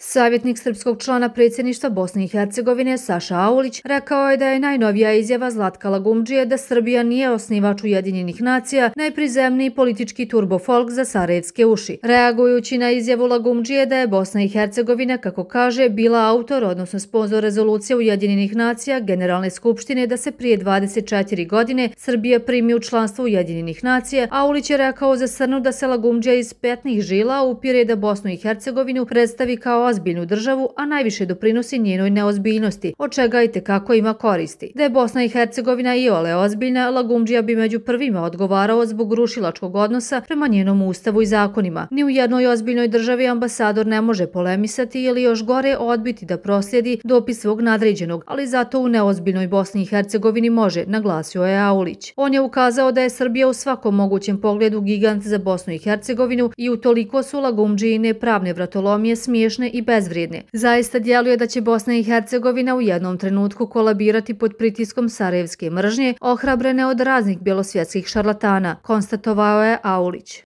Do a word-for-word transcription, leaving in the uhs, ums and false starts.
Savjetnik srpskog člana predsjedništva Bosne i Hercegovine Saša Aulić rekao je da je najnovija izjava Zlatka Lagumdžije da Srbija nije osnivač Ujedinjenih nacija najprizemniji politički turbofolk za sarajevske uši. Reagujući na izjavu Lagumdžije da je Bosna i Hercegovina, kako kaže, bila autor, odnosno sponzor rezolucije Ujedinjenih nacija Generalne skupštine da se prije dvadeset četiri godine Srbija primi u članstvo Ujedinjenih nacija, Aulić je rekao za Srnu da se Lagumdžija iz petnih žila upire da Bosnu i Hercegovinu predstavi kao ozbiljnu državu, a najviše doprinosi njenoj neozbiljnosti, od čega i tekako ima koristi. Da je Bosna i Hercegovina iole ozbiljna, Lagumdžija bi među prvima odgovarao zbog rušilačkog odnosa prema njenom ustavu i zakonima. Ni u jednoj ozbiljnoj državi ambasador ne može polemisati ili još gore odbiti da proslijedi dopis svog nadređenog, ali zato u neozbiljnoj Bosni i Hercegovini može, naglasio je Aulić. On je ukazao da je Srbija u svakom mogućem pogledu gigant za Bosnu i Hercegovinu i utoliko su Lagumdžijine pravne vratolomije smiješne i bezvrijedne. Zaista djeluje da će Bosna i Hercegovina u jednom trenutku kolabirati pod pritiskom sarajevske mržnje, ohrabrene od raznih bjelosvjetskih šarlatana, konstatovao je Aulić.